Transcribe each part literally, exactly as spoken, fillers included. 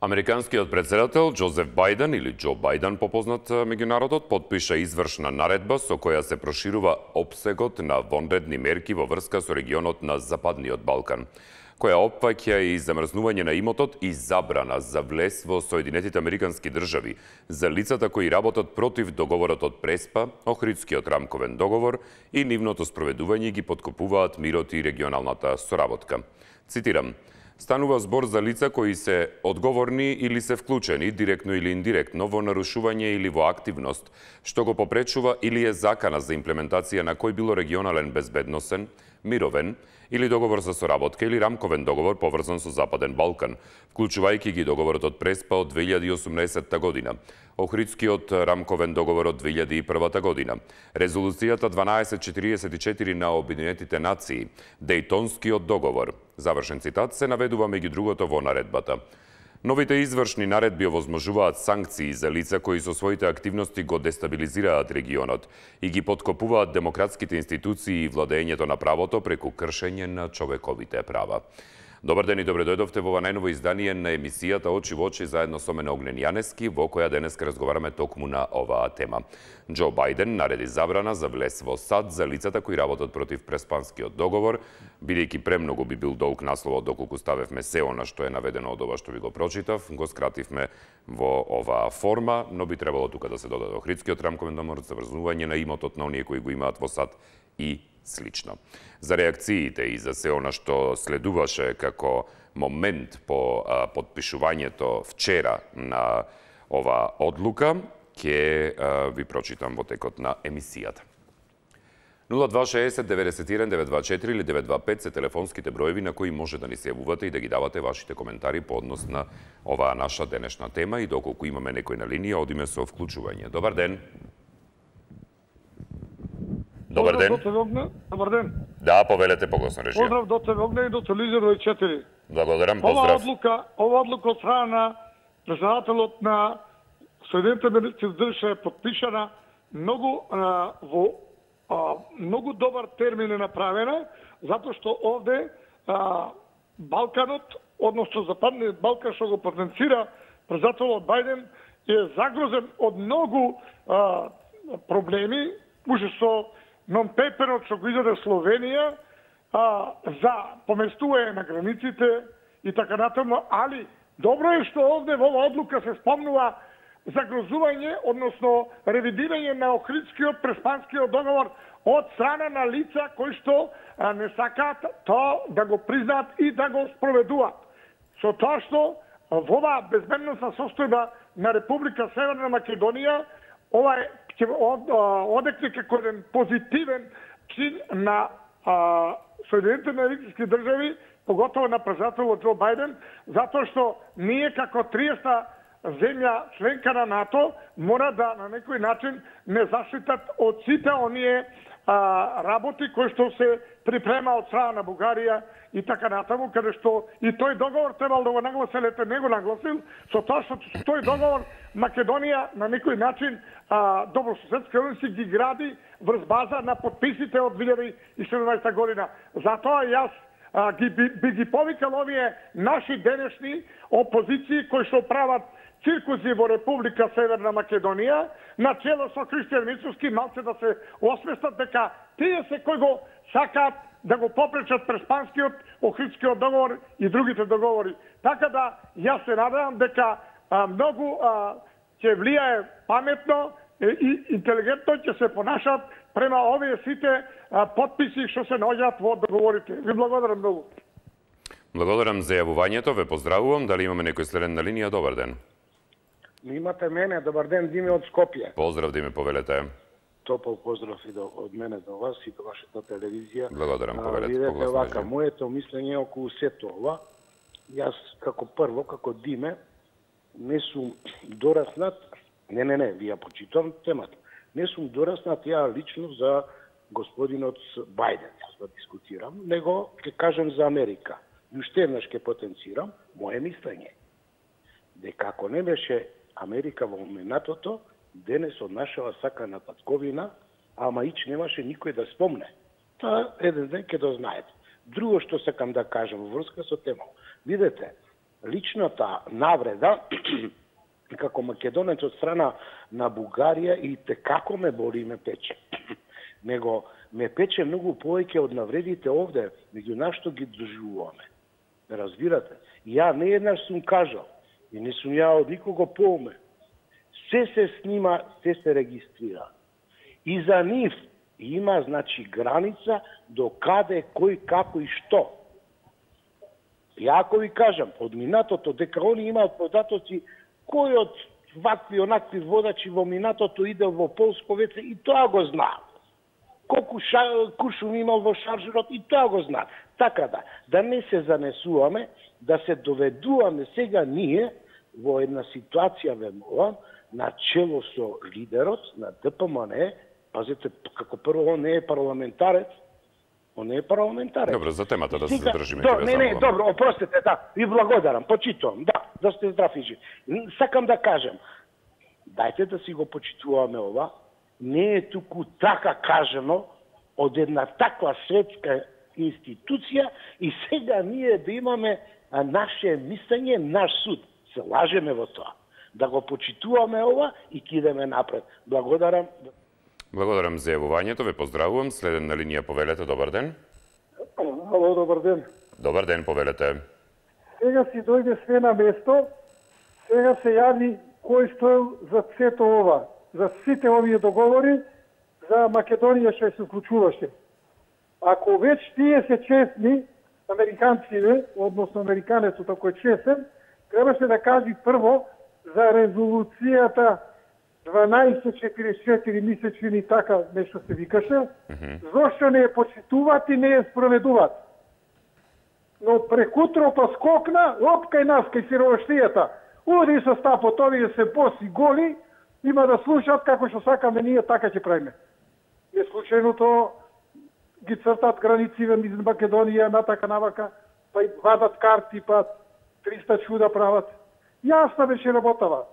Американскиот председател Џозеф Бајден или Џо Бајден попознат меѓу народот потпиша извршна наредба со која се проширува опсегот на вонредни мерки во врска со регионот на Западниот Балкан, која опфаќа и замрзнување на имотот и забрана за влез во Соединетите Американски држави за лицата кои работат против договорот од Преспа, Охридскиот рамковен договор и нивното спроведување ги поткопуваат мирот и регионалната соработка. Цитирам: станува збор за лица кои се одговорни или се вклучени, директно или индиректно, во нарушување или во активност, што го попречува или е закана за имплементација на кој било регионален безбедносен, мировен или договор за соработка или рамковен договор поврзан со Западен Балкан, вклучувајќи ги договорот од Преспа од две илјади и осумнаесетта година, Охридскиот рамковен договор од две илјади и првата година, Резолуцијата дванаесет четириесет и четири на Обединетите нации, Дејтонскиот договор. Завршен цитат се наведува меѓу другото во наредбата. Новите извршни наредби овозможуваат санкции за лица кои со своите активности го дестабилизираат регионот и ги поткопуваат демократските институции и владењето на правото преку кршење на човековите права. Добар ден и добре дојдовте во ова најново издание на емисијата Очи во очи заедно со мене Огнен Јанески, во која денеска разговараме токму на оваа тема. Џо Бајден нареди забрана за влез во САД за лицата кои работат против Преспанскиот договор, бидејќи премногу би бил долг насловот доколку ставевме се она што е наведено од ова што ви го прочитав, го скративме во оваа форма, но би требало тука да се додаде Охридскиот рамковен договор, заврзување на имотот на оние кои го имаат во САД и слично. За реакциите и за се она што следуваше како момент по а, подпишувањето вчера на ова одлука, ќе а, ви прочитам во текот на емисијата. нула два шеесет деветдесет и еден девет два четири или девет два пет се телефонските броеви на кои може да ни се јавувате и да ги давате вашите коментари по однос на оваа наша денешна тема и доколку имаме некој на линија, одиме со вклучување. Добар ден. Добар ден. Добар ден. Да, повелете погласно режија. Поздрав до тебе Огне и до телевизор четири. Благодарам, поздрав. Ова поздрав. одлука, ова одлука од страна на председателот на Соединетите Американски држави е потпишана многу а, во а, многу добар термин е направена, затоа што овде а, Балканот, односно Западниот Балкан што го потенцира председателот Бајден е загрозен од многу а, проблеми, уште со нон-пеперот што го издаде Словенија а, за поместување на границите и така натаму, али добро е што овде во оваа одлука се спомнува загрозување, односно ревидирање на Охридскиот Преспанскиот договор од страна на лица кои што а, не сакаат тоа да го признаат и да го спроведуваат. Со тоа што во оваа безбедносна состојба на Република Северна Македонија, ова е ќе одекне како еден позитивен чин на а, Соединетите Американски држави, поготово на председателот Џо Бајден, затоа што ние како триесета земја членка на НАТО мора да на некој начин не заштитат од сите оние а, работи кои што се припрема од страна на Бугарија и така натаму, каде што и тој договор требал да го нагласи, лете не го нагласил, со тоа што со тој договор Македонија на некој начин а, добрососедски односи ги гради врз база на подписите од две илјади и седумнаесета година. Затоа јас а, ги, би, би ги повикал овие наши денешни опозиции кои што прават циркузи во Република Северна Македонија, на чело со Кристијан Мицовски, малце да се освестат дека тие се кои го сакаат да го попречат Преспанскиот, Охридскиот договор и другите договори. Така да, јас се надевам дека а, многу а, ќе влијае паметно и интелигентно ќе се понашат према овие сите а, подписи што се наоѓаат во договорите. Ви благодарам многу. Благодарам за јавувањето, ве поздравувам. Дали имаме некој следен на линија? Добар ден. Имате мене, добар ден, Диме од Скопје. Поздрав, Диме, повелете. Топол поздрав и до, од мене до вас и до вашата телевизија. Благодарам, повелете. Видете вака, моето мислење околу сето ова. Јас како прво, како Диме, не сум дораснат, не, не, не, вија почитувам темата. Не сум дораснат ја лично за господинот Бајден, јас да дискутирам, него ќе кажам за Америка. И уште еднаш ќе потенцирам моje мислење. Дека ако не беше Америка во моментото, денес од нашава сакана татковина, ама ич немаше никој да спомне. Тоа еден ден ќе дознаете. Друго што сакам да кажам во врска со тема. Видете, личната навреда како македонец од страна на Бугарија и те како ме боли и ме пече. Него ме пече многу повеќе од навредите овде, меѓу нас што ги доживуваме. Ме разбирате? Ја не еднаш сум кажал, и не сум ја од никого поуме. Се се снима, се се регистрира. И за нив има, значи, граница до каде, кој, како и што. Ја ако ви кажам, од минатото, дека они имаат податоци, кој од вакви, онакви водачи во минатото иде во полско веце, и тоа го знаат. Колку куршум имал во шаржерот, и тоа го знаат. Така да, да не се занесуваме, да се доведуваме сега ние во една ситуација, вемувам, на чело со лидерот на Д П М Н, пазете, како прво, он не е парламентарец, он не е парламентарец. Добро, за темата да се Сега, задржиме. до, не, не, добро, опростете, да, ви благодарам, почитувам, да, да сте здрав и жив. Сакам да кажем, дајте да си го почитуваме ова, не е туку така кажано од една таква светска институција и сега ние да имаме наше мислење, наш суд. Се лажеме во тоа. Да го почитуваме ова и кидеме напред. Благодарам. Благодарам за јавувањето, ве поздравувам. Следен на линија повелете, добар ден. Ало, добар ден. Добар ден, повелете. Сега си дојде све на место, сега се јави кој стоел за сето ова, за сите овие договори, за Македонија што се вклучуваше. Ако веќе тие се честни, американците, односно американецот ако е честен, требаше да кажи прво за резолуцијата дванаесет четиридесет и четири месечини, така нешто се викаше, mm-hmm. зошто не ја почитуваат и не ја спроведуваат. Но прекутро па скокна, опкај нас кај сиромаштијата. Уди со стапот, овие се боси голи, има да слушат како што сакаме ние, така ќе правиме. Не случајното ги цртат границите меѓу Македонија, натака навака, па и вадат карти, па триста чуда прават. Јасна беше работава.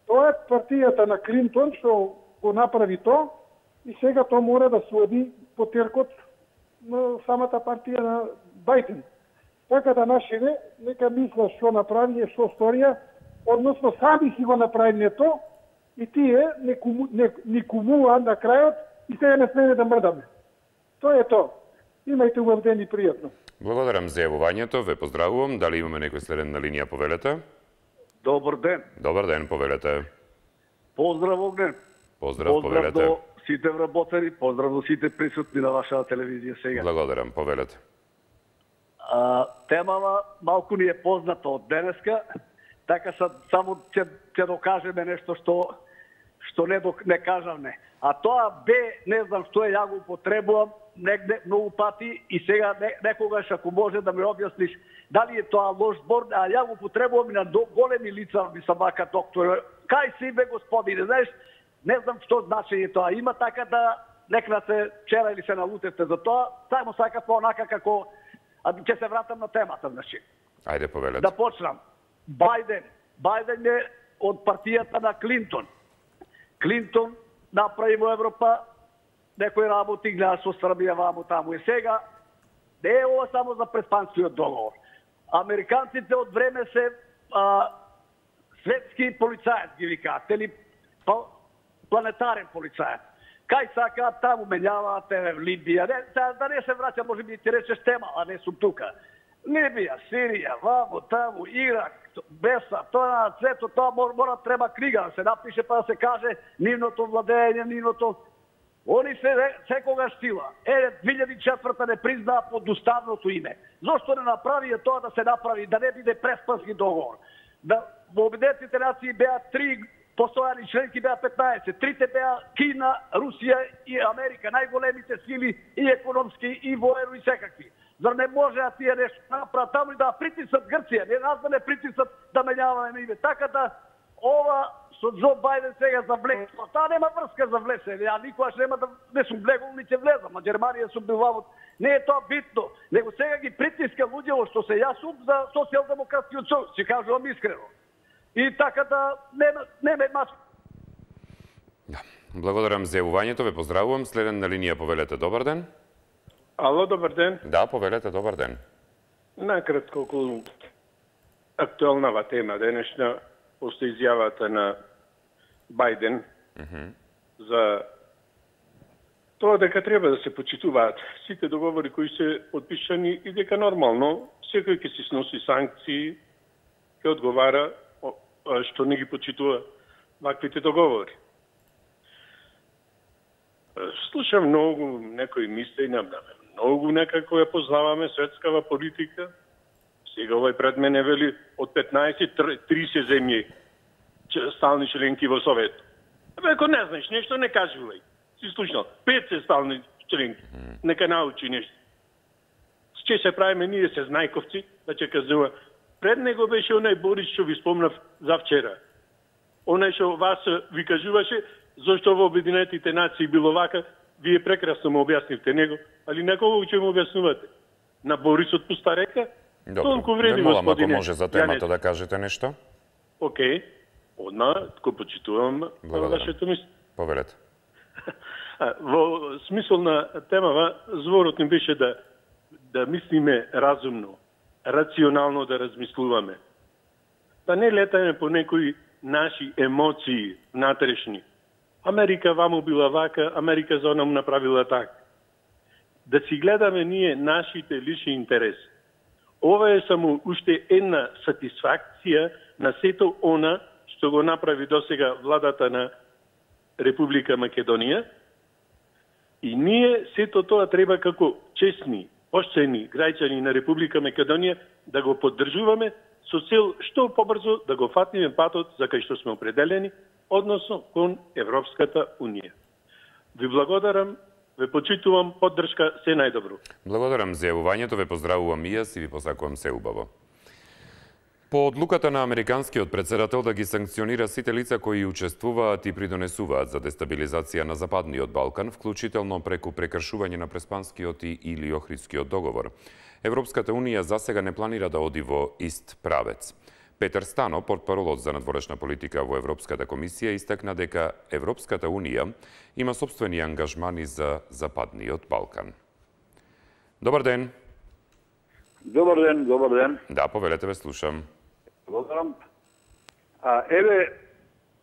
Тоа е партијата на Клинтон што го направи тоа и сега тоа мора да се оди по теркот на самата партија на Бајден. Така да нашите нека мислат што направи и што сторија, односно сами си го направиле тоа и тие не, куму, не, не кумуваат на крајот и сега не смене да мрдаме. Тоа е тоа. Имајте убав ден и пријатно. Благодарам за јавувањето, ве поздравувам. Дали имаме некој следен на линија, повелете? Добар ден. Добар ден, повелете. Поздрав огнен. Поздрав, Поздрав повелете. до сите вработени, поздрав до сите присутни на вашата телевизија сега. Благодарам, повелете. А, темава малку ни е позната од денеска, така са, само ќе, ќе докажеме нешто што што не, док, не кажавме. А тоа бе, не знам што е, ја го употребувам негде многу пати и сега не, некогаш ако може да ми објасниш дали е тоа лош збор, а ја го употребувам и на до, големи лица, ми са мака доктор. Кај си бе господине, знаеш, не знам што значење тоа има, така да некна се вчера или се налутевте за тоа, само сака по-онака како, а ќе се вратам на темата, значи. Ајде, повелете. Да почнам. Бајден. Бајден е од партијата на Клинтон. Клинтон направи во Европа некои работи, гледа со Србија ваму таму и сега. Не е ова само за предпанскиот договор. Американците од време се а, светски полицаец ги викаат, или планетарен полицаец. Кај сакаат таму менјаваат в Либија. Не, да не се враќа, може би ти речеш тема, а не сум тука. Либија, Сирија, ваму, таму, Ирак, Беса, тоа на цвето, тоа мора, мора треба книга да се напише па да се каже нивното владење, нивното. Они се секогаш сила. Е, две илјади и четврта не признаа под уставното име. Зошто не направи тоа да се направи, да не биде преспански договор? Да, во Обединетите нации беа три постојани членки, беа петнаесет. Трите беа Кина, Русија и Америка, најголемите сили и економски, и воено, и секакви. Зар не може да тие нешто направат таму и да притиснат Грција, не нас да не притиснат да менјаваме име. Така да ова со Џо Бајден сега за влез. Таа нема врска за влез, ја никогаш нема да не сум влегол ни ќе влезам, а Германија сум бил ваму. Не е тоа битно, него сега ги притиска луѓето што се јас сум за социјалдемократскиот сојуз, ќе кажувам искрено. И така да нема нема мач. Да. Благодарам за јавувањето, ве поздравувам. Следен на линија, повелете, добар ден. Ало, добар ден. Да, повелете, добар ден. Накратко околу актуелнава тема денешна после изјавата на Бајден Mm-hmm. за тоа дека треба да се почитуваат сите договори кои се подпишани и дека нормално секој ќе си сноси санкции, ќе одговара што не ги почитува ваквите договори. Слушам многу некои мисли, многу некако ја познаваме светскава политика. Сега овој пред мене вели од петнаесет тридесет земји стални членки во Совет. Ако не знаеш нешто, не кажувај. Си слушнал. Пет се стални членки. Нека научи нешто. Че се правиме ние се знајковци, да ќе казува. Пред него беше онај Борис што ви спомнав за вчера. Онај што вас ви кажуваше зашто во Обединетите нации било вака, вие прекрасно му објаснивте него, али некого ќе му објаснувате. На Борисот пуста река? Толку вреди, господине. Ако може за темата да кажете нешто? Окей. Одма, го почитувам вашето мислење. Повелете. Во смисол на темава, зборот ни беше да да мислиме разумно, рационално да размислуваме. Да не летаме по некои наши емоции внатрешни. Америка ваму била вака, Америка за онам направила така. Да си гледаме ние нашите лични интереси. Ова е само уште една сатисфакција на сето она што го направи досега владата на Република Македонија. И ние сето тоа треба како честни, поштени граѓани на Република Македонија да го поддржуваме со цел што побрзо да го фатиме патот за кај што сме определени, односно кон Европската Унија. Ви благодарам, ве почитувам, поддршка, се најдобро. Благодарам за јавувањето, ве поздравувам и јас и ви посакувам се убаво. По одлуката на американскиот председател да ги санкционира сите лица кои учествуваат и придонесуваат за дестабилизација на Западниот Балкан, вклучително преку прекршување на Преспанскиот и или Охридскиот договор, Европската Унија засега не планира да оди во ист правец. Петер Стано, портпаролот за надворешна политика во Европската комисија, истакна дека Европската Унија има сопствени ангажмани за Западниот Балкан. Добар ден. Добар ден, добар ден. Да, повелете, ве слушам. Благодарам. А, еве,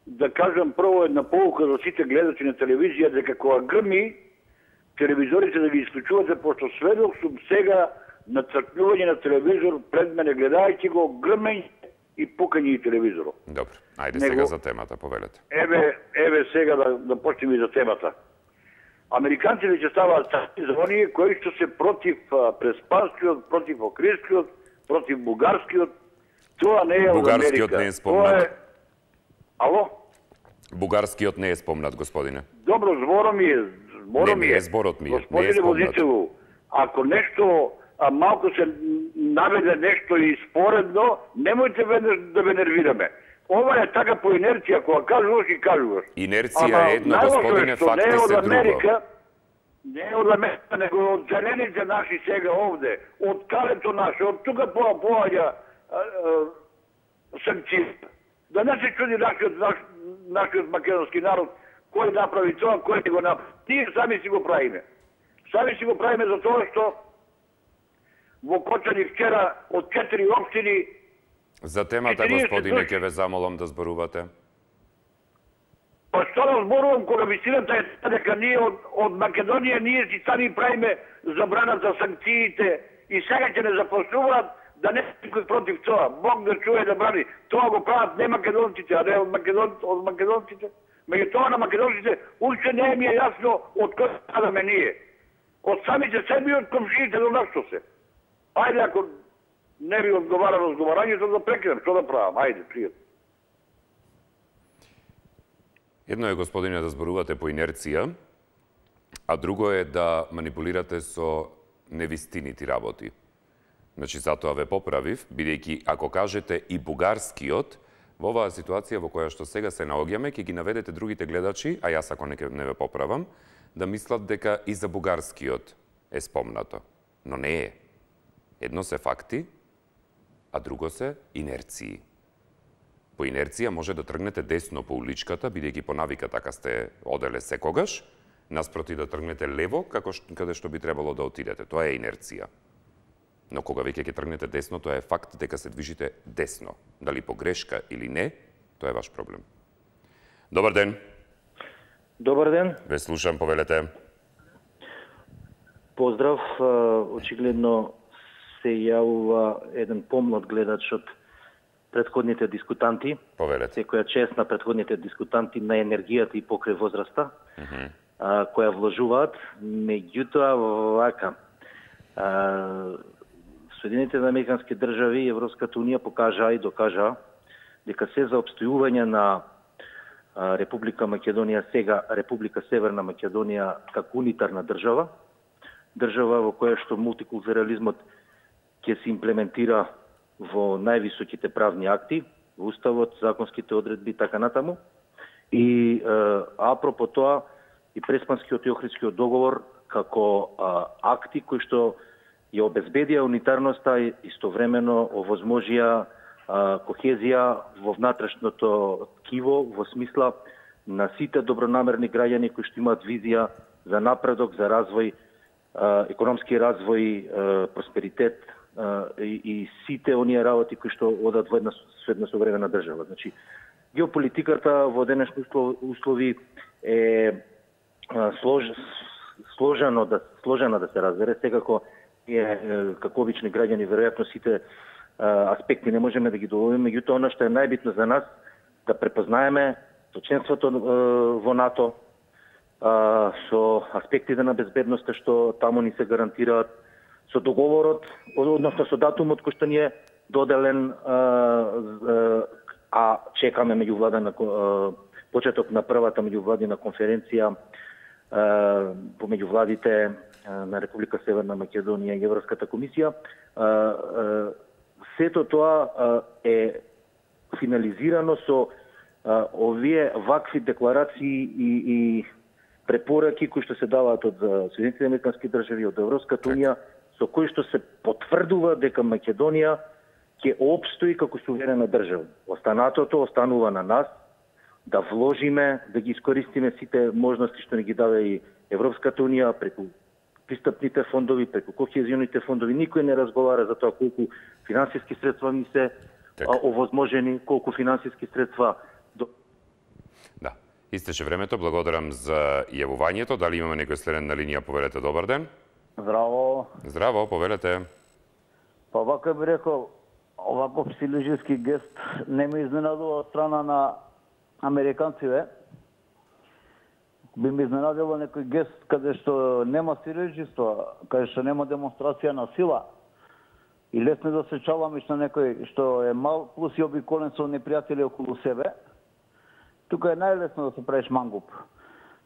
да кажам прво една полука за сите гледачи на телевизија, дека кога грми, телевизорите да ги исклучувате, пошто сведок сум сега на цркнување на телевизор пред мене, гледајќи го, грмење и пукање и телевизорот. Добро, ајде Него... сега за темата, повелете. Еве, еве сега да, да почнем и за темата. Американците ќе ставаат санкции за оние кои што се против Преспанскиот, против Охридскиот, против Бугарскиот. Тоа не е од Америка. Бугарскиот не е спомнат. Е... Ало? Бугарскиот не е спомнат, господине. Добро, зборот ми е. Зборот ми не, е. не е зборот ми е. Господине не е спомнат. Возителу, ако нешто а, малко се наведе нешто и споредно, немојте веднаш да ве нервираме. Ова е така по инерција, кога кажуваш и кажуваш. Инерција е едно, господине, факти се друго. Не е од Америка, него од зелените наши сега овде, од калето наше, од тука поаѓа санкции. Да не се чуди нашиот, наш, нашиот македонски народ, кој направи тоа, кој го направи. Тие сами си го правиме. Сами си го правиме за тоа што во Кочани вчера од четири општини. За темата, господине, ќе ве замолам да зборувате. Па што да зборувам, кога вистината е дека ние од, од Македонија ние си сами правиме забрана за санкциите и сега ќе не започнуваат да не никој против тоа. Бог да чуе да брани. Тоа го прават не македонците, а не од, македон, од македонците. Меѓутоа на македонците уште не ми е јасно од кој страдаме ние. Од самите себе и од комшиите до нашто се. Ајде, ако не ви одговара разговарањето, да прекинем. Што да правам? Ајде, пријатно. Едно е, господине, да зборувате по инерција, а друго е да манипулирате со невистинити работи. Значи, затоа ве поправив, бидејќи ако кажете и бугарскиот, во оваа ситуација во која што сега се наоѓаме, ќе ги наведете другите гледачи, а јас ако не, не ве поправам, да мислат дека и за бугарскиот е спомнато. Но не е. Едно се факти, а друго се инерции. По инерција може да тргнете десно по уличката, бидејќи по навика така сте оделе секогаш, наспроти да тргнете лево, како ш... каде што би требало да отидете. Тоа е инерција. Но кога веќе ќе тргнете десно, тоа е факт дека се движите десно. Дали по грешка или не, тоа е ваш проблем. Добар ден. Добар ден. Ве слушам, повелете. Поздрав. Очигледно се јавува еден помлад гледач од претходните дискутанти. Повелете. Секоја чест на претходните дискутанти на енергијата и покрај возраста, uh -huh. а, која вложуваат. Меѓутоа, вака, а, Соединените американски држави и Европската унија покажаа и докажаа дека се за обстојување на а, Република Македонија, сега Република Северна Македонија како унитарна држава, држава во која што мултикултурализмот ќе се имплементира во највисоките правни акти, во уставот, законските одредби, така натаму. И е, апропо тоа, и Преспанскиот и Охридскиот договор како а, акти кои што ја обезбедија унитарноста и истовремено овозможија а, кохезија во внатрешното ткиво, во смисла на сите добронамерни граѓани кои што имаат визија за напредок, за развој, а, економски развој, а, просперитет, И, и сите оние работи кои што одат во една, една современа држава. Значи, геополитиката во денешни услови е слож, сложено да сложена да се разбере, секако е како обични граѓани веројатно сите аспекти не можеме да ги доловиме, меѓутоа она што е најбитно за нас да препознаеме со членството во НАТО, со аспектите на безбедноста што таму ни се гарантираат, со договорот, односно со датумот кој што ни е доделен, а, а чекаме меѓувладена почеток на првата меѓувладина конференција помеѓу владите на Република Северна Македонија и Европската комисија. А, а, сето тоа а, е финализирано со а, овие вакви декларации и, и препораки кои што се даваат од Соединените американски држави, од Европската унија, со кои што се потврдува дека Македонија ќе опстои како суверена држава. Останатото останува на нас да вложиме, да ги искористиме сите можности што ни ги даде и Европската унија преку пристапните фондови, преку кохезионите фондови. Никој не разговара за тоа колку финансиски средства ни се а, овозможени, колку финансиски средства до... Да. Истече времето. Благодарам за јавувањето. Дали имаме некој следен на линија? Повелете, добар ден. Здраво. Здраво, повелете. Па вака би рекол, оваков силежиски гест не ме изненадува од страна на американците. Би ме изненадило некој гест каде што нема силежиство, каде што нема демонстрација на сила. И лесно да се чаламиш на некој што е мал, плюс и обиколен со непријатели околу себе. Тука е најлесно да се правиш мангуп.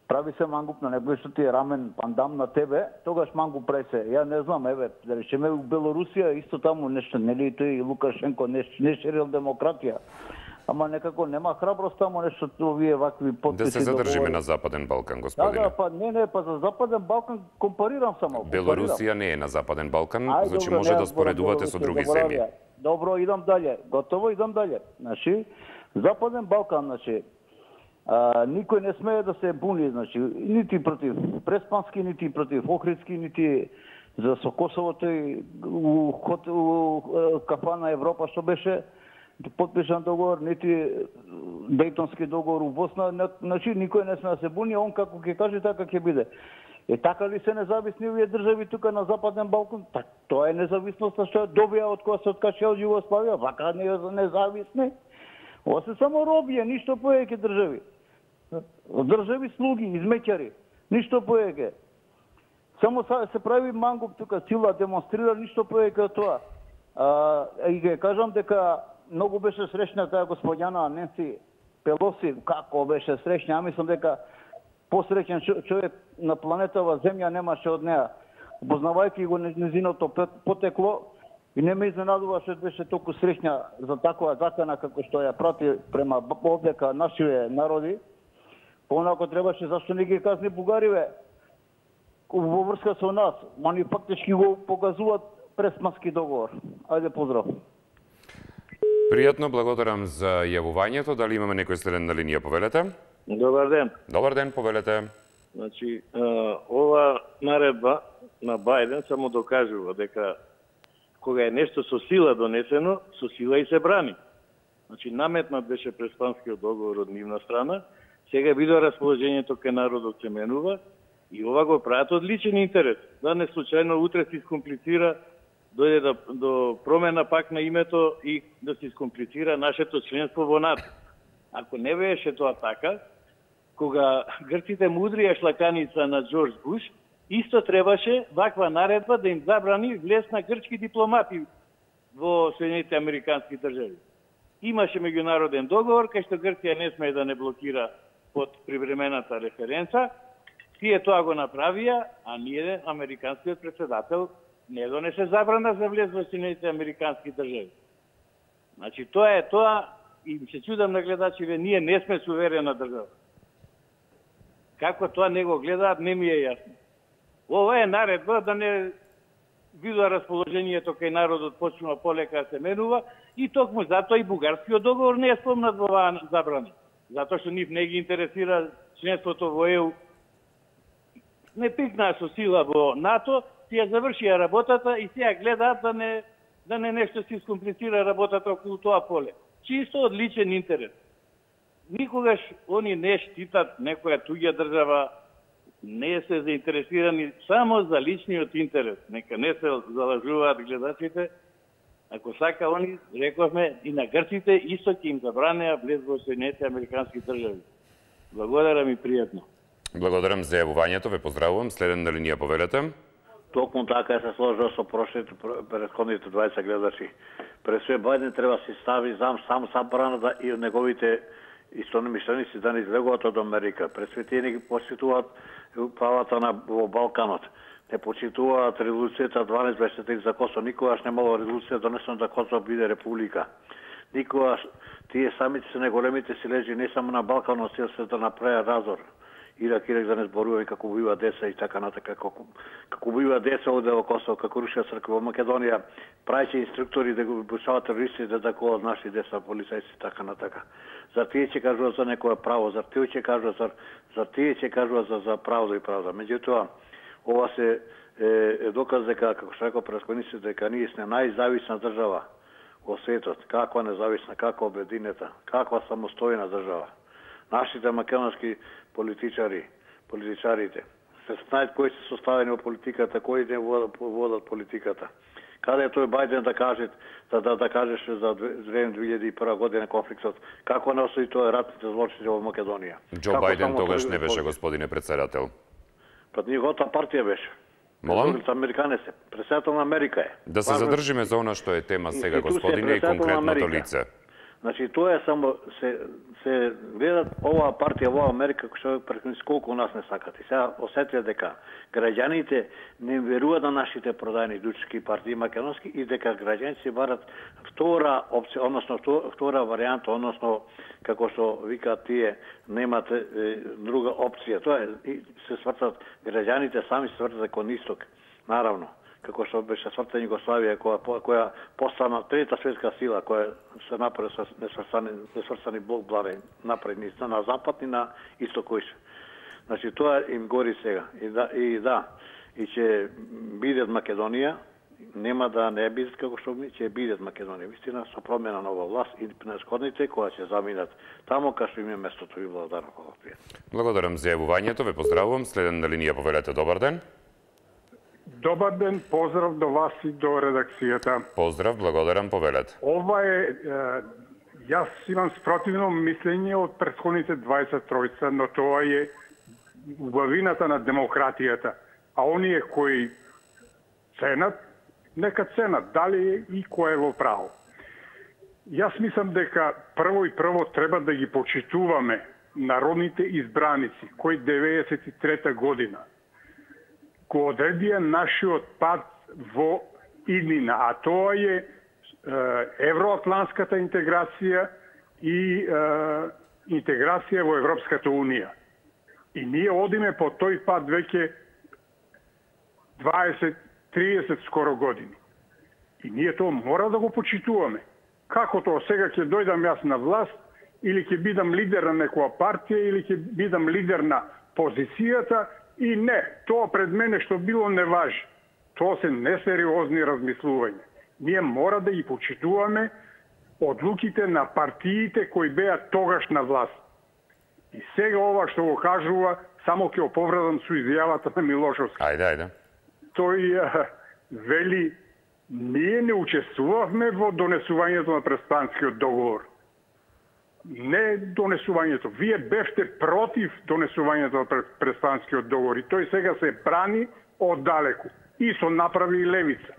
Прави се мангуп на некој што ти е рамен пандам на тебе, тогаш мангуп прави се. Ја не знам, еве, да речеме у Белорусија исто таму нешто, нели тој Лукашенко не, не ширил демократија. Ама некако нема храброст таму нешто овие вакви подписи. Да се задржиме на Западен Балкан, господине. Да, да, па не, не, па за Западен Балкан компарирам само. Белорусија не е на Западен Балкан, Ај, значи добро, може не, да споредувате со други земји. Добро, идам дале. Готово, идам дале. Значи, Западен Балкан, значи, А, никој не смее да се буни, значи, нити против Преспански, нити против Охридски, нити за со Косово тој у, хот, у, у кафана Европа што беше подпишан договор, нити Дејтонски договор у Босна, значи никој не смее да се буни, он како ќе каже така ќе биде. Е така ли се независни овие држави тука на Западен Балкан? Так, тоа е независноста што добија од кога се откача од Југославија, вака не е независни. Ова се само робија, ништо повеќе држави. Држави слуги, измеќари, ништо повеќе. Само се прави мангуп тука, сила демонстрира, ништо повеќе од тоа. А, и ќе кажам дека многу беше среќна таа господјана Ненси Пелоси, како беше среќна, ја мислам дека посреќен човек на планетава Земја немаше од неа. Познавајќи го незиното потекло, и не ме изненадува што беше толку среќна за такова закана како што ја прати према овдека нашите народи. Понако требаше, зашто не ги казни бугариве во врска со нас. Они фактички го показуваат Преспански договор. Ајде, поздрав. Пријатно, благодарам за јавувањето. Дали имаме некој следен на линија? Повелете. Добар ден. Добар ден, повелете. Значи, ова наредба на Бајден само докажува дека кога е нешто со сила донесено, со сила и се брани. Значи, наметнат беше преспанскиот договор од нивна страна, сега видо расположението кај народот се менува и ова го прават од личен интерес. Да не случајно утре се искомплицира, дојде до, до промена пак на името и да се искомплицира нашето членство во НАТО. Ако не беше тоа така, кога грците мудрија шлаканица на Џорџ Буш, исто требаше ваква наредба да им забрани влез на грчки дипломати во Соединетите Американски држави. Имаше меѓународен договор кај што Грција не смее да не блокира под привремената референца. Тие тоа го направија, а ние, американскиот председател, не донесе забрана за влез во Соединетите Американски држави. Значи, тоа е тоа, и се чудам на гледачите, ние не сме суверена држава. Како тоа не го гледаат, не ми е јасно. Ова е наредба да не видува расположението кај народот почнува полека да се менува и токму затоа и бугарскиот договор не е спомнат во оваа забрана. Затоа што нив не ги интересира членството во Е У. Не пикнаа со сила во НАТО, тие завршија работата и сега гледаат да не да не нешто се искомплицира работата околу тоа поле. Чисто од личен интерес. Никогаш они не штитат некоја туѓа држава, не се заинтересирани само за личниот интерес. Нека не се залажуваат гледачите. Ако сака они, рековме, и на грците исто ќе им забранеа влез во Соединетите Американски држави. Благодарам и пријатно. Благодарам за јавувањето, ве поздравувам. Следен на линија повелете. Токму така се сложува со прошлите претходните дваесет гледачи. Пред све Бајден треба се стави зам сам забрана да и неговите истономишленици да не излегуваат од Америка. Пред све тие не ги почитуваат правата на во Балканот. Не почитуваат резолуцијата дванаесет дваесет три за Косово. Никогаш не имало резолуција донесена да Косово биде република. Никогаш тие самите се најголемите силежи не само на Балканот, се се да направи разор. Ирак, Ирак да не зборуваме како убива деца и така натака, како, како убива деца оде во Косово, како рушија црква во Македонија, праќа инструктори да го обучаваат терористи да такуваат наши деца, полицајци, така натака. Зар тие ќе кажува за некое право, зар тие ќе кажува за, зар тие ќе кажува за, за правда и правда. Меѓутоа, ова се е, е доказ дека, како што рекол предходниците, дека ние сме најзависна држава во светот. Каква независна, каква обединета, каква самостојна држава. Нашите македонски политичари, политичарите, се знаат кои се составени во политиката, кои не водат, водат политиката. Каде е тој Бајден да каже, да, да, да кажеш за две илјади и прва година конфликтот, како не осуди тоа ратните злочини во Македонија? Џо Бајден тогаш не беше, господине председател. Пред неговата партија беше. Молам? Американец е. Председател на Америка е. Да се задржиме за она што е тема сега, господине, и конкретното лице. Значи, тоа е само, се, се гледат оваа партија во Америка, што прекој колку нас не сакат. И сега осетија дека граѓаните не веруваат на нашите продајни дучки партии македонски и дека граѓаните си барат втора опција, односно втора варијанта, односно како што викаат тие, немат е, друга опција. Тоа е, и се свртат граѓаните сами се свртат кон исток. Наравно, како што беше свртена Југославија, која, која постана трета светска сила, која се направи со несврстани, несврстани блок блари, направи на запад и на исток кој се. Значи, тоа им гори сега. И да, и да, и ќе бидат Македонија, нема да не бидат како што ми, ќе бидат Македонија. Вистина, со промена нова власт и пресходните, која ќе заминат тамо, кај што им е местото. Ви благодарам. Благодарам за јавувањето, ве поздравувам. Следен на линија повелете, добар ден. Добар ден, поздрав до вас и до редакцијата. Поздрав, благодарам, повелете. Ова е, е, јас имам спротивно мислење од претходните дваесет тројца, но тоа е убавината на демократијата. А оние кои ценат, нека ценат, дали и кој е во право. Јас мислам дека прво и прво треба да ги почитуваме народните избраници, кои деветдесет и трета година го одредија нашиот пат во иднина, а тоа е, е евроатлантската интеграција и е, интеграција во Европската унија. И ние одиме по тој пат веќе дваесет триесет скоро години. И ние тоа мора да го почитуваме. Како тоа сега ќе дојдам јас на власт, или ќе бидам лидер на некоја партија, или ќе бидам лидер на позицијата, и не, тоа пред мене што било не важи. Тоа се несериозни размислувања. Ние мора да ги почитуваме одлуките на партиите кои беа тогаш на власт. И сега ова што го кажува, само ќе оповредам со изјавата на Милошовски. Ајде, ајде. Тој а, вели, ние не учествувавме во донесувањето на Преспанскиот договор. Не донесувањето. Вие бевте против донесувањето на Преспанскиот договор и тој сега се брани оддалеку. И со направи и левица.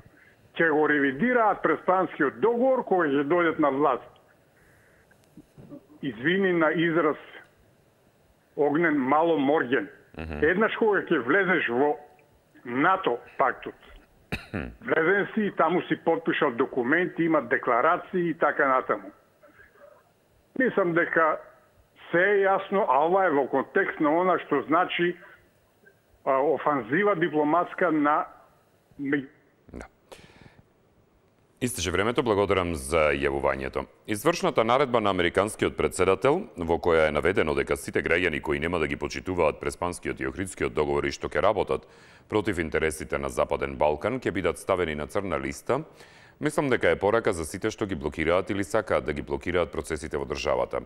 Ќе го ревидираат Преспанскиот договор кога ќе дојдат на власт. Извини на израз Огнен мало морген. Mm-hmm. Еднаш кога ќе влезеш во НАТО пактот, влезен си и таму си подпишал документи, има декларации и така натаму. Мислам дека се е јасно, а ова е во контекст на она што значи а, офанзива дипломатска на... Да. Истече времето, благодарам за јавувањето. Извршната наредба на американскиот председател, во која е наведено дека сите граѓани кои нема да ги почитуваат Преспанскиот и Охридскиот договори што ќе работат против интересите на Западен Балкан, ќе бидат ставени на црна листа, мислам дека е порака за сите што ги блокираат или сакаат да ги блокираат процесите во државата,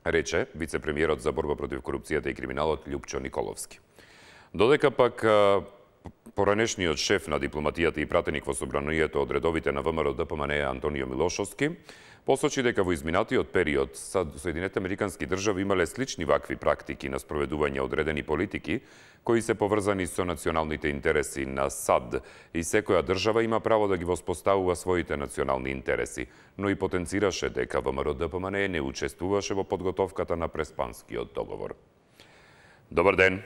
рече вице-премиерот за борба против корупцијата и криминалот Љупчо Николовски. Додека пак поранешниот шеф на дипломатијата и пратеник во собранието од редовите на ВМРО-ДПМН Антонио Милошовски посочи дека во изминатиот период Соединетите Американски држави имале слични вакви практики на спроведување одредени политики кои се поврзани со националните интереси на САД и секоја држава има право да ги воспоставува своите национални интереси, но и потенцираше дека ВМРО-ДПМН не учествуваше во подготовката на Преспанскиот договор. Добар ден.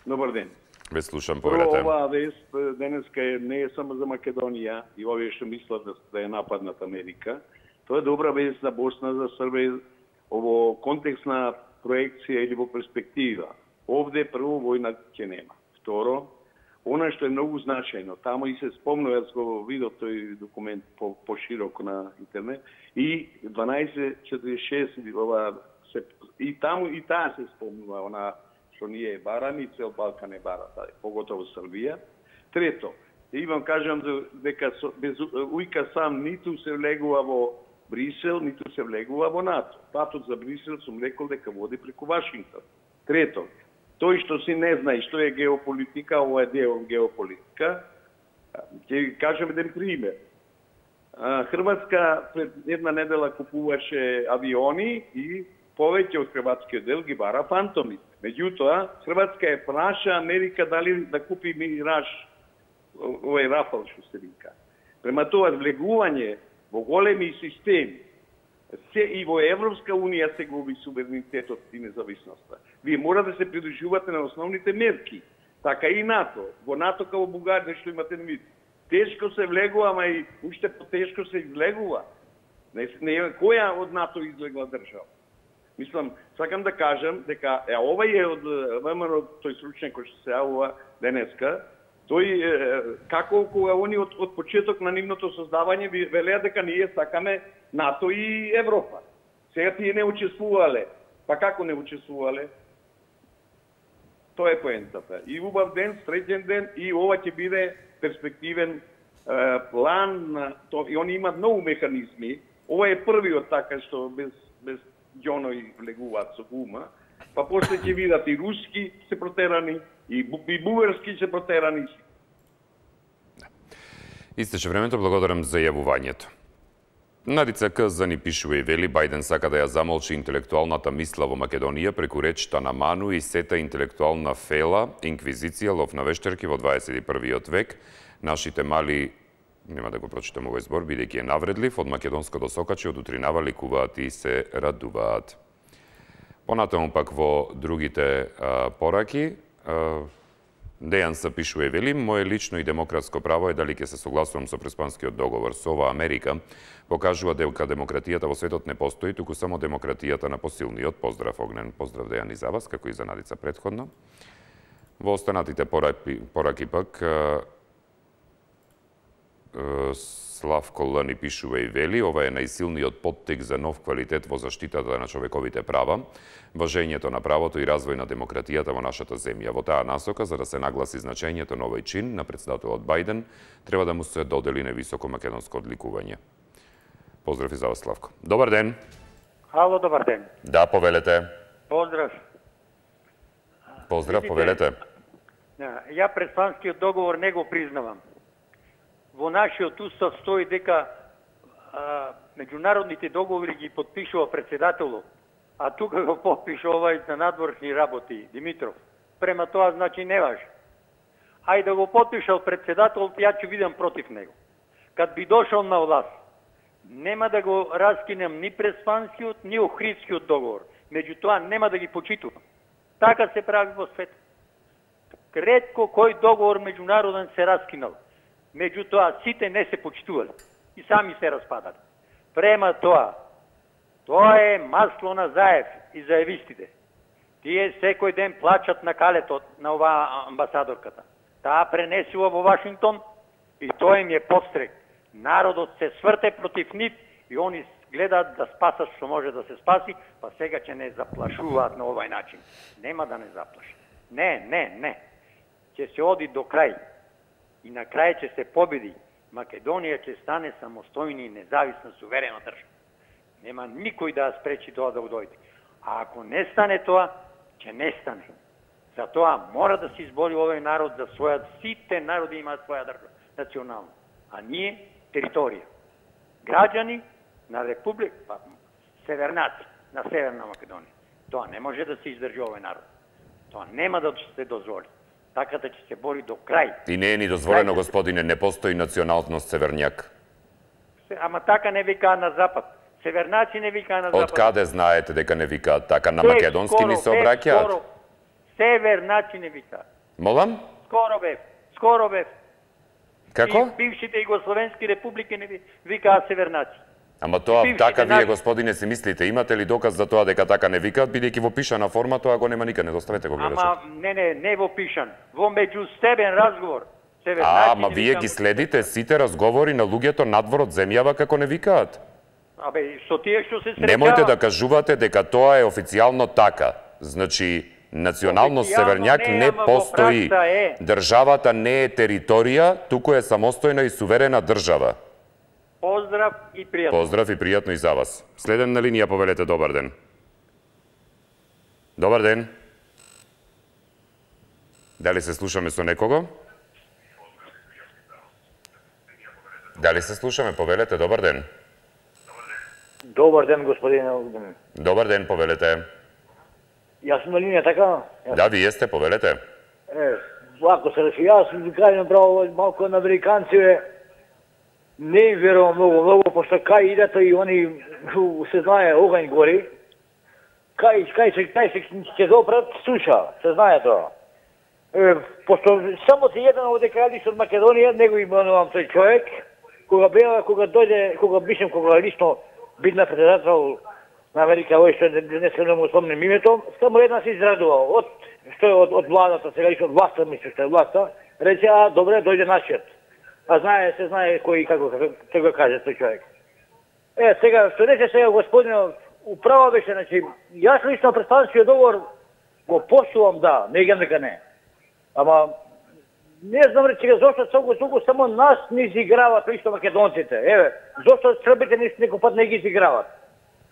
Добар ден. Ве слушам, поверете. Прво, оваа вест денеска не е само за Македонија и овие што мислат да е нападнат Америка. Тоа е добра вест за Босна, за Србија, во контекст на проекција или во перспектива. Овде прво војна ќе нема. Второ, она што е многу значајно, таму и се спомнува, јас го видов тој документ по, пошироко на интернет, и дванаесет четириесет и шест, ова, се, и таму и таа се спомнува, она што ние бараме и цел Балкан е бара, поготово Србија. Трето, и вам кажам дека без ујка сам ниту се влегува во Брисел, ниту се влегува во НАТО. Патот за Брисел сум рекол дека води преку Вашингтон. Трето, тој што си не знае што е геополитика, ова е дел геополитика, ќе кажем еден пример. Хрватска пред една недела купуваше авиони и повеќе од хрватскиот дел ги бара фантоми. Меѓутоа, Хрватска е праша Америка дали да купи Мираж, овој Рафал што се вика. Према тоа влегување во големи системи, се и во Европска унија се губи суверенитетот и независноста. Вие мора да се придружувате на основните мерки. Така и НАТО. Во НАТО као Бугарија што имате вид. Тешко се влегува, ама и уште потешко се излегува. Не, не, која од НАТО излегла држава? Мислам, сакам да кажам дека е овај е од ВМРО, тој стручник кој што се јавува денеска, тој како кога они од, од почеток на нивното создавање велеа дека ние сакаме НАТО и Европа. Сега тие не учествувале. Па како не учествувале? Тоа е поентата. И убав ден, среќен ден, и ова ќе биде перспективен е, план, то, и они имат многу механизми. Ова е првиот така што без без ѓонови влегуваат со гума, па после ќе видат и руски се протерани, и, бу, и бугарски се протерани. Истече времето, благодарам за јавувањето. Надица К. за ни пишува и вели, Бајден сака да ја замолчи интелектуалната мисла во Македонија преку речта на Ману и сета интелектуална фела, инквизиција, лов на вештерки во дваесет и првиот век. Нашите мали, нема да го прочитам овој збор, бидејќи е навредлив, од македонското сокачи од утринава ликуваат и се радуваат. Понатаму пак во другите а, пораки, а, Дејан се пишува и вели, моje лично и демократско право е дали ќе се согласувам со Преспанскиот договор. Со ова Америка покажува дека демократијата во светот не постои, туку само демократијата на посилниот. Поздрав, Огнен, поздрав Дејан и за вас, како и за Надица претходно. Во останатите пораки, пораки пак, Славко Л ни пишува и вели, ова е најсилниот поттик за нов квалитет во заштитата на човековите права, важењето на правото и развој на демократијата во нашата земја. Во таа насока, за да се нагласи значењето на овој чин на претседателот Бајден, треба да му се додели невисоко македонско одликување. Поздрав и за вас, Славко. Добар ден. Ало, добар ден. Да, повелете. Поздрав. Поздрав, повелете. Ја предстанскиот договор не го признавам. Во нашиот устав стои дека а, меѓународните договори ги подпишува председателот, а тука го подпиша овај за надворшни работи, Димитров. Према тоа значи не важи. Ајде да го подпишал председателот, ја ќе видам против него. Кад би дошол на власт, нема да го раскинем ни Преспанскиот, ни Охридскиот договор. Меѓутоа нема да ги почитувам. Така се прави во свет. Ретко кој договор меѓународен се раскинал. Меѓутоа сите не се почитували и сами се распадали. Према тоа, тоа е масло на заев и заевистите. Тие секој ден плачат на калето на оваа амбасадорката. Таа пренесува во Вашингтон и тоа им е подстрек. Народот се сврте против нив и они гледаат да спасат што може да се спаси, па сега ќе не заплашуваат на овај начин. Нема да не заплашат. Не, не, не. Ќе се оди до крај. И на крај ќе се победи. Македонија ќе стане самостојна и независна суверена држава. Нема никој да ја спречи тоа да дојде. А ако не стане тоа, ќе не стане. Затоа мора да се избори овој народ за својат, сите народи имаат своја држава, национална. А ние територија. Граѓани на република, па, севернаци на Северна Македонија. Тоа не може да се издржи овој народ. Тоа нема да се дозволи. Така да ќе се бори до крај. И не е ни дозволено, господине, не постои националност северњак. Ама така не викаат на запад. Севернаци не викаат на запад. Од каде знаете дека не викаат така? На македонски ни се обраќаат? Севернаци не викаат. Молам? Скоро бев. Скоро бев. Како? И бившите југословенски републики не викаат севернаци. Ама тоа така вие, господине, си мислите? Имате ли доказ за тоа дека така не викаат, бидејќи во пишана форма тоа го нема никаде, не доставете го гледачот. Ама не, не, не во пишан, во меѓустебен разговор. А, ама вие ги следите сите разговори на луѓето надвор од земјава како не викаат. Абе, со тие што се среќаваат. Немојте да кажувате дека тоа е официјално така. Значи, националност северњак не постои. Државата не е територија, туку е самостојна и суверена држава. Поздрав и пријатно. Поздрав и пријатно и за вас. Следен на линија, повелете, добар ден. Добар ден. Дали се слушаме со некого? Дали се слушаме, повелете, добар ден. Добар ден, господине. Добар ден, повелете. Јас сум на линија, така? Да, вие сте, повелете. Е, вако се реши, јас ви кажем право малко на американци, не им верувам многу, многу, пошто кај идат и они се знае огањ гори, кај, кај се, кај се ќе допрат, слуша, се знае тоа. Е, пошто само се еден од декарадиш од Македонија, него именувам тој човек, кога беа, кога дојде, кога бишем, кога лично бидна председател на Америка, овој што не се не му спомнем името, само една се израдува, од, што е од, од владата, сега лично од власта, мислам што е власта, рече, а, добре, дојде нашиот. А знае, се знае кој, како, како го каже тој човек. Е, сега, што рече сега господинот, управа беше, значи, јас лично представскиот договор го поштувам, да, не гем дека не. Ама, не знам рече, зошто цело толку само нас не изиграват лично македонците. Еве, зошто србите не некој пат не ги изиграват.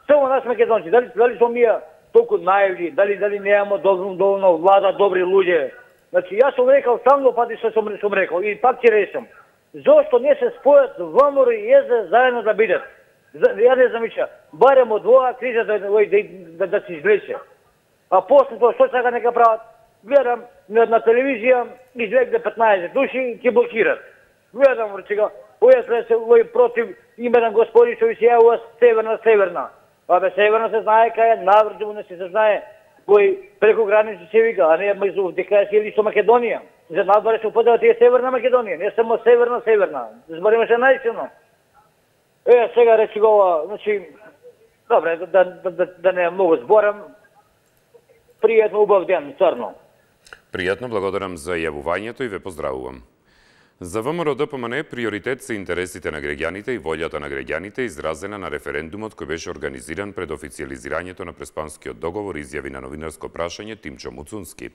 Само нас македонци, дали, дали сме ние толку наивни, дали, дали немаме доволно, доволно влада, добри луѓе. Значи, јас сум рекал, самно пати што сум, сум рекал, и пак ќе речам. Зошто не се спојат ВМРО и ЕЗ заедно да бидат? Ја не знам ича, барем од оваа криза да, да, да, да се извлече. А после тоа што сега нека прават? Гледам на, на телевизија, излегне петнаесет души, ќе блокират. Гледам, речега, овој се овој против именен господи што ви се јавува северна, северна. Абе, северна се знае кај е, наврдиво не се знае. Кој преку граници се вика, а не меѓу дека е лично Македонија. За надвор се употребува тие Северна Македонија, не само Северна, Северна. Збориме се наистина. Е, сега речи го ова, значи, добре, да, да, да, да не многу зборам. Пријатно, убав ден, црно. Пријатно, благодарам за јавувањето и ве поздравувам. За ВМРО-ДПМН приоритет се интересите на граѓаните и волјата на граѓаните изразена на референдумот кој беше организиран пред официјализирањето на Преспанскиот договор, изјави на новинарско прашање Тимчо Муцунски,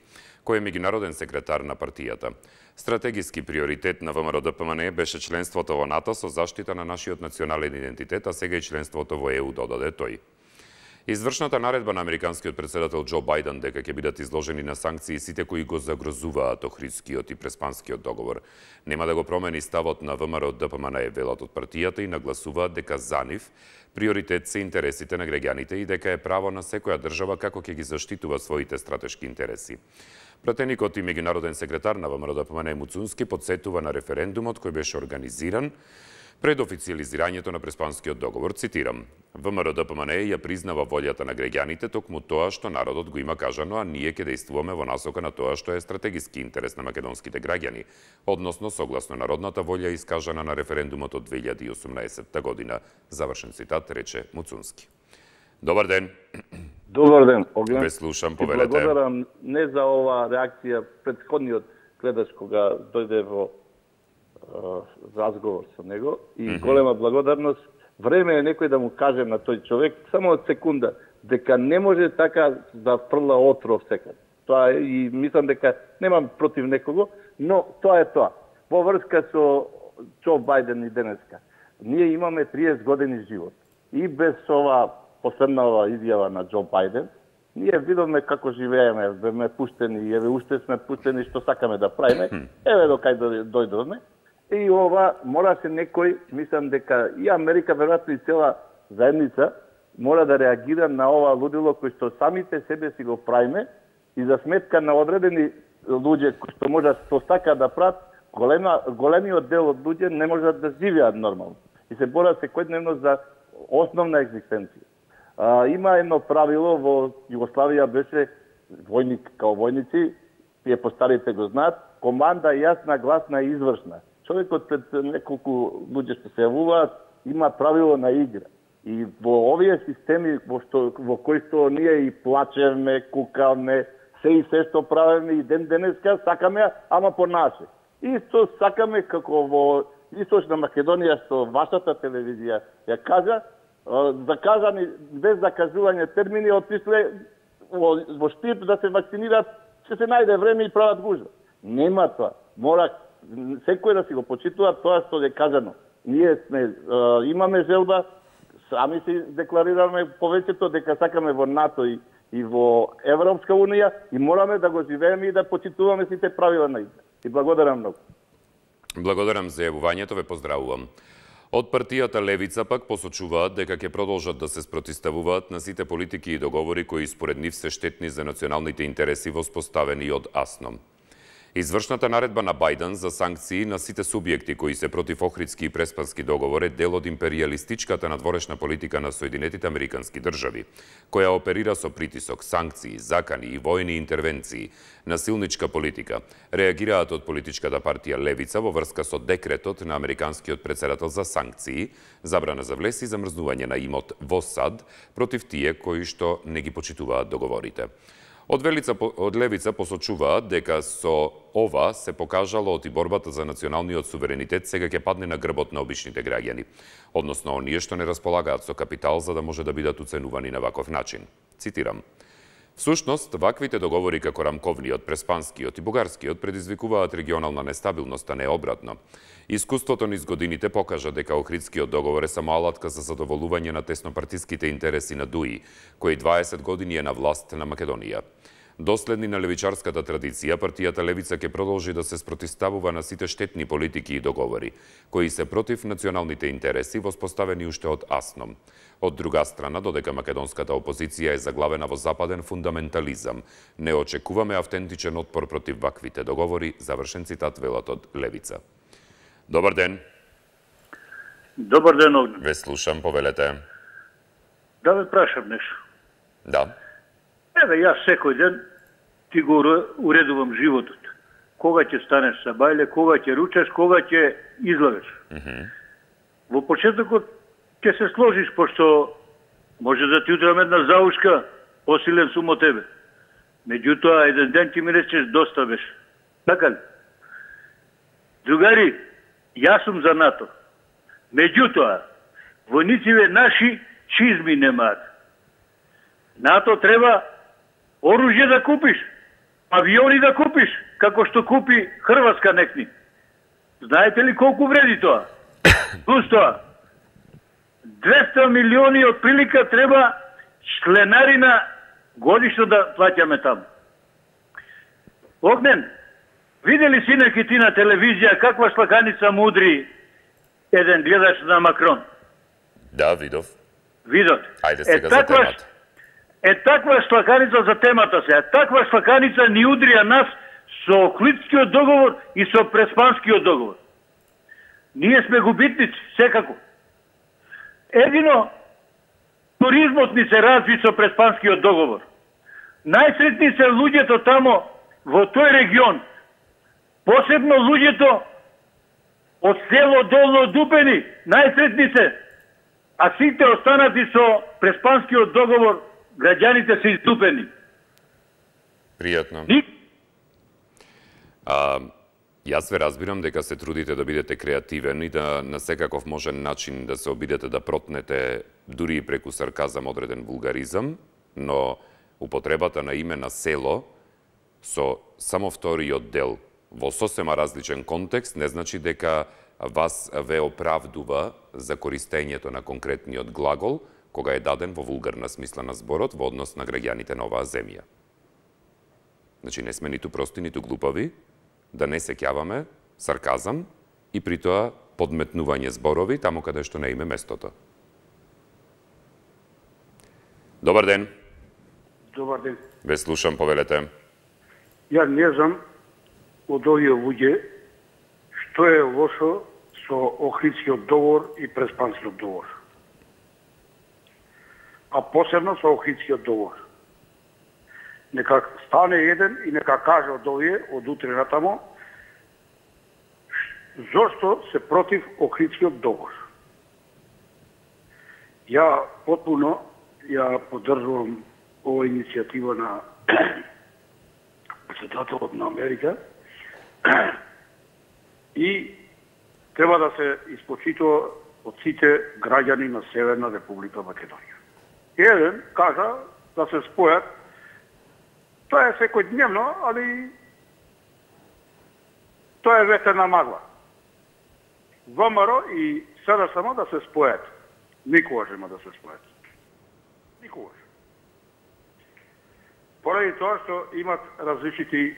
кој е меѓународен секретар на партијата. Стратегиски приоритет на ВМРО-ДПМН беше членството во НАТО со заштита на нашиот национален идентитет, а сега и членството во Е У, додаде тој. Извршната наредба на американскиот председател Џо Бајден дека ќе бидат изложени на санкции сите кои го загрозуваат Охридскиот и Преспанскиот договор нема да го промени ставот на ВМРО-ДПМН, велат од партијата, и нагласуваат дека за нив приоритет се интересите на граѓаните и дека е право на секоја држава како ќе ги заштитува своите стратешки интереси. Пратеникот и меѓународен секретар на ВМРО-ДПМН Муцунски подсетува на референдумот кој беше организиран пред официјализирањето на Преспанскиот договор, цитирам: ВМРО-ДПМН ја признава волјата на граѓаните, токму тоа што народот го има кажано, а ние ќе действуваме во насока на тоа што е стратегиски интерес на македонските граѓани, односно согласно народната волја искажана на референдумот од две илјади и осумнаесетта година. Завршен цитат, рече Муцунски. Добар ден. Добар ден. Ве слушам, повелете. Благодарам не за ова реакција претходниот гледач кога дојде во разговор со него и mm -hmm. голема благодарност. Време е некој да му каже на тој човек само од секунда дека не може така да фрла отров секад. Тоа е, и мислам дека немам против некого, но тоа е тоа. Во врска со Џо Бајден и денеска. Ние имаме триесет години живот. И без ова последнава изјава на Џо Бајден, ние видовме како живееме, беме пуштени и еве уште сме пуштени што сакаме да правиме. Еве до кај дојдовме. И ова мораше некој, мислам дека и Америка, веројатно и цела заедница, мора да реагира на ова лудило кој што самите себе си го правиме и за сметка на одредени луѓе кои што можат што сака да прават, голема, големиот дел од луѓе не можат да живеат нормално. И се борат секојдневно за основна екзистенција. А, има едно правило во Југославија, беше војник као војници, тие постарите го знаат, команда јасна, гласна и извршна. Човекот пред неколку луѓе што се јавуваат има правило на игра. И во овие системи во, што, во кои што ние и плачевме, кукавме, се и се што правиме и ден денеска сакаме, ама по наше. Исто сакаме како во Источна Македонија што вашата телевизија ја кажа, заказани без закажување термини отишле во, во Штип да се вакцинираат, ќе се најде време и прават гужва. Нема тоа. Мора секој да си го почитува тоа што е кажано. Ние сме, е, имаме желба, сами си декларираме повеќето дека сакаме во НАТО и, и во Европска Унија и мораме да го живееме и да почитуваме сите правила на игра. И благодарам многу. Благодарам за јавувањето, ве поздравувам. Од партијата Левица пак посочуваат дека ќе продолжат да се спротиставуваат на сите политики и договори кои според нив се штетни за националните интереси воспоставени од АСНОМ. Извршната наредба на Бајден за санкции на сите субјекти кои се против Охридски и Преспански договор е дел од империјалистичката надворешна политика на Соединетите Американски држави, која оперира со притисок, санкции, закани и војни интервенции, насилничка политика, реагираат од политичката партија Левица во врска со декретот на американскиот председател за санкции, забрана за влез и замрзнување на имот во САД против тие кои што не ги почитуваат договорите. Од, велица, од Левица посочуваат дека со ова се покажало од и борбата за националниот суверенитет сега ќе падне на грбот на обичните граѓани, односно оние што не располагаат со капитал за да може да бидат уценувани на ваков начин. Цитирам: Всушност, ваквите договори како рамковниот, преспанскиот и бугарскиот предизвикуваат регионална нестабилност, а не обратно. Искуството низ годините покажа дека Охридскиот договор е само алатка за задоволување на теснопартиските интереси на ДУИ, кој дваесет години е на власт на Македонија. Доследни на левичарската традиција, партијата Левица ќе продолжи да се спротиставува на сите штетни политики и договори, кои се против националните интереси воспоставени уште од АСНОМ. Од друга страна, додека македонската опозиција е заглавена во западен фундаментализам, не очекуваме автентичен отпор против ваквите договори, завршен цитат, велат од Левица. Добар ден. Добар ден, Огнен. Ве слушам, повелете. Да ве прашам нешто. Да. Еве, јас секој ден ти го уредувам животот. Кога ќе станеш са бајле, кога ќе ручаш, кога ќе излавеш. Mm -hmm. Во почетокот ќе се сложиш, пошто може да ти удрам една заушка, посилен сум од тебе. Меѓутоа, еден ден ти ми речеш, доста беше. Така ли? Другари, јас сум за НАТО. Меѓутоа, војниците наши чизми немаат. НАТО треба оружје да купиш, авиони да купиш, како што купи Хрватска некни. Знаете ли колку вреди тоа? Плюс тоа, двеста милиони од прилика треба членарина годишно да плаќаме таму. Огнен, видели си неки ти на телевизија каква слаканица мудри еден гледач на Макрон? Да, видов. Видот. Ајде сега е, за таква, темата. Е таква слаканица за темата се. Таква слаканица ни удрија нас со Охридскиот договор и со Преспанскиот договор. Ние сме губитници, секако. Едино, туризмот ни се разви со Преспанскиот договор. Најсретни се луѓето тамо во тој регион. Посебно луѓето од село Долно Дупени, најсретни се. А сите останати со Преспанскиот договор, граѓаните се издупени. Пријатно. Ник... А, јас ве разбирам дека се трудите да бидете креативен и да на секаков можен начин да се обидете да протнете дури и преку сарказам одреден вулгаризам, но употребата на име на село со само вториот дел во сосема различен контекст не значи дека вас ве оправдува за користењето на конкретниот глагол кога е даден во вулгарна смисла на зборот во однос на граѓаните на оваа земја. Значи не сме ниту прости, ниту глупави, да не сеќаваме сарказам и при тоа подметнување зборови таму каде што не име местото. Добар ден. Добар ден. Ве слушам, повелете. Ја не знам од овие луѓе што е лошо со Охридскиот договор и Преспанскиот договор. А посебно со Охридскиот договор. Нека стане еден и нека каже од овие, од утре натамо, зошто се против Охридскиот договор. Ја потпуно ја поддржувам ова иницијатива на председателот на Америка и треба да се испочитува од сите граѓани на Северна Република Македонија. Еден кажа да се спојат, тоа е секојдневно, али тоа е ветерна магла. ВМРО и СДСМ да се спојат. Никогаш нема да се спојат. Никогаш. Поради тоа што имат различити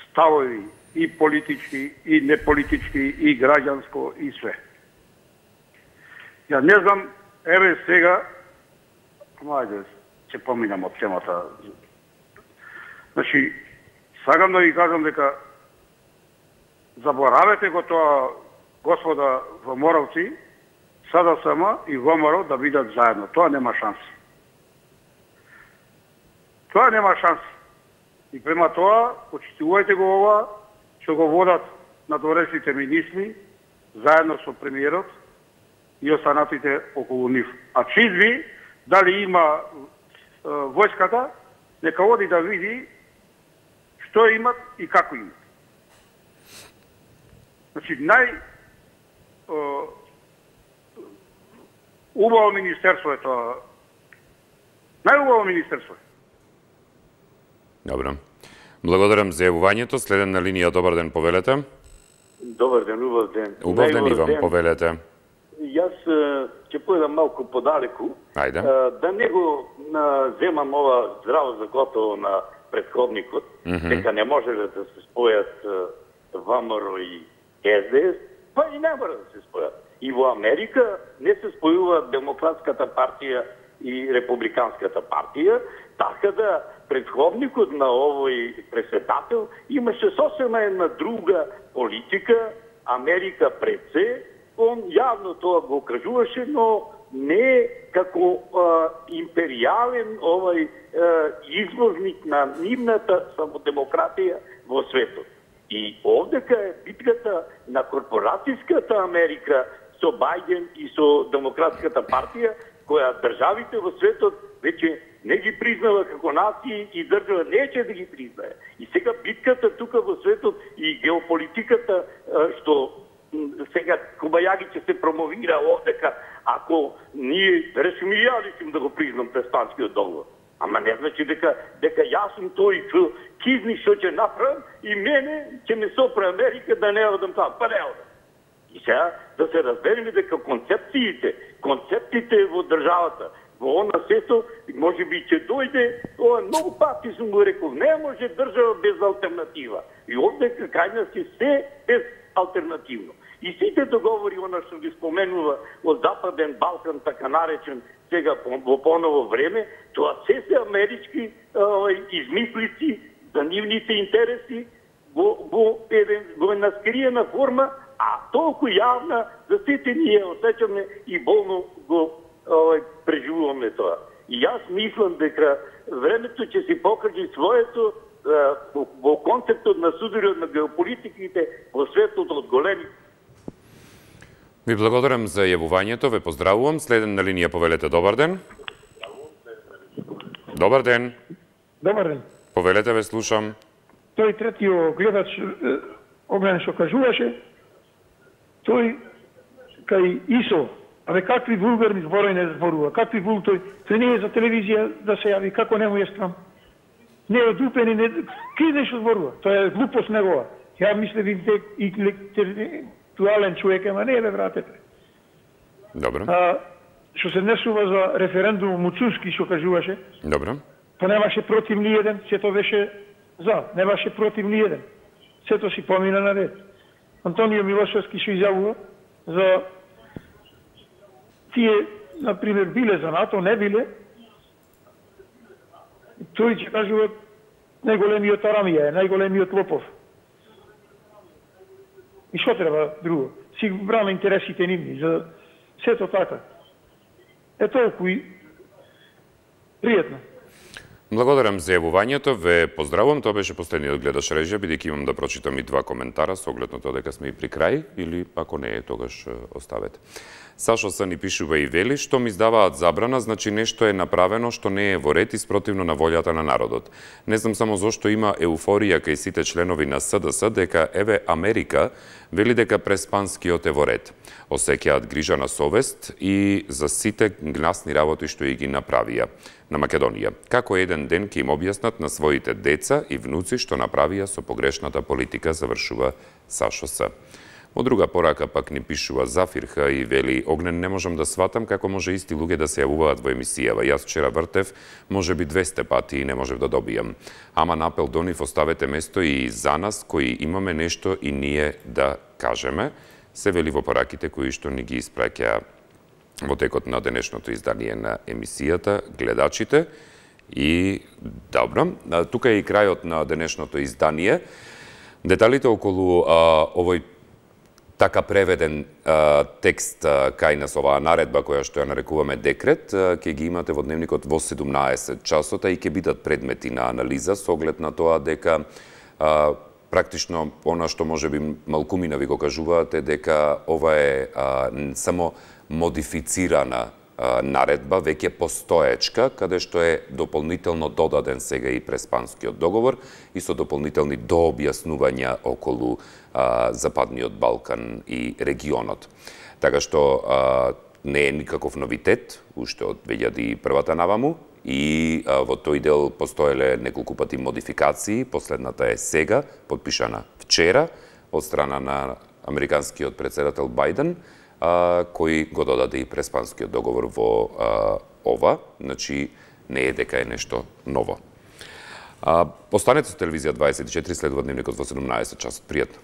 ставови, и политички, и неполитички, и граѓанско, и све. Ја не знам, еве сега, ајде, ќе поминам од темата. Значи, сакам да ви кажам дека заборавете го тоа, господа ВМРО-вци, СДСМ и ВМРО да бидат заедно. Тоа нема шанси. Тоа нема шанси. И према тоа, почитувајте го ова, што го водат надворешните министри, заедно со премиерот и останатите околу нив. А чизми, дали има е, војската, нека оди да види што имат и како имат. Значи, нај е, убаво министерство е тоа. Најубаво министерство е. Добро. Благодарам за јавувањето. Следен на линија, добар ден, повелете. Добар ден, убав ден. Убав ден и вам, повелете. Јас ќе појдам малку подалеку. Ајде. Да не го земам ова здраво за готово на претходникот, mm -hmm. дека не може да се спојат ВМРО и С Д С, па и не мора да се спојат. И во Америка не се спојува Демократската партија и Републиканската партија, така да предходникот на овој председател имаше сосема една друга политика, Америка пред се, он јавно тоа го кажуваше, но не како а, империјален овој а, извозник на нивната самодемократија во светот. И овдека е битката на корпоратиската Америка со Бајден и со Демократската партија, која државите во светот веќе не ги признава како нации и држава неće да ги признае. И сега битката тука во светот и геополитиката што сега Кобајаги ќе се промовира овдека, ако ние решим и ја решим да го признам Преспанскиот договор. Ама не значи дека дека јас сум тој кизни што ќе направам и мене ќе ме сопре Америка да не одам таму. Па не одам. И сега да се разбереме дека концепциите, концепциите во државата, во она сето, може би ќе дојде, ова многу пати сум го рекол, не може држава без алтернатива. И овде кај нас е се без алтернативно. И сите договори, она што ги споменува од Западен Балкан, така наречен, сега во поново време, тоа се се амерички измислици за нивните интереси во, во, во една скриена форма, а толку јавна за сите ние осеќаме и болно го овај, преживуваме тоа. И јас мислам дека времето ќе си покаже своето во, во концептот на сударот на геополитиките во светот од големи. Ви благодарам за јавувањето, ве поздравувам. Следен на линија повелете, добар ден. Добар ден. Добар ден. Повелете, ве слушам. Тој третиот гледач Огнен што кажуваше, тој кај ИСО, абе какви вулгарни зборови не зборува, какви вул тој, тој не е за телевизија да се јави, како не му е страм. Не е одупен и не... Ки нешто зборува, тоа е глупост негова. Ја мислев и интелектуален човек, ама не е, бе, братете. Добро. А, што се несува за референдум Муцунски, што кажуваше, Добро. па немаше против ни еден, сето беше за, немаше против ни еден. Сето си помина на ред. Антонио Милошевски што изјавува за тие, например, биле за НАТО, не биле, тој ќе кажува најголемиот Арамија е, најголемиот лопов. И што треба друго? Си брана интересите нивни, за сето така. Е толку и пријатно. Благодарам за јавувањето, ве поздравувам, тоа беше последниот гледаш режија, бидејќи имам да прочитам и два коментара со оглед на тоа дека сме и при крај, или ако не е, тогаш оставете. Сашо Са ни пишува и вели, што ми издаваат забрана, значи нешто е направено што не е во ред и спротивно на волјата на народот. Не знам само зошто има еуфорија кај сите членови на СДС дека еве Америка вели дека Преспанскиот е во ред. Осеќаат грижа на совест и за сите гласни работи што и ги направија на Македонија. Како еден ден ќе им објаснат на своите деца и внуци што направија со погрешната политика, завршува Сашо Са. Во друга порака пак ни пишува Зафирха и вели, Огнен, не можам да сватам како може исти луѓе да се јавуваат во емисијава. Јас вчера вртев, може би двесте пати и не можев да добијам. Ама напел до нив оставете место и за нас, кои имаме нешто и ние да кажеме, се вели во пораките кои што ни ги испраќа во текот на денешното издание на емисијата гледачите. И добро, тука е и крајот на денешното издание. Деталите околу а, овој така преведен а, текст а, кај нас, оваа наредба која што ја нарекуваме декрет, а, ќе ги имате во дневникот во седумнаесет часота и ќе бидат предмети на анализа со оглед на тоа дека а, практично она што може би малкумина ви го кажуваате дека ова е а, само модифицирана а, наредба, веќе постоечка, каде што е дополнително додаден сега и Преспанскиот договор и со дополнителни дообјаснувања околу а, Западниот Балкан и регионот. Така што а, не е никаков новитет, уште од две илјади и прва наваму, и а, во тој дел постоеле неколку пати модификации, последната е сега, подпишана вчера од страна на американскиот председател Бајден, а, кој го додаде и Преспанскиот договор во а, ова, значи не е дека е нешто ново. А, останете со телевизија дваесет и четири, следува дневникот во седумнаесет часот. Пријатно.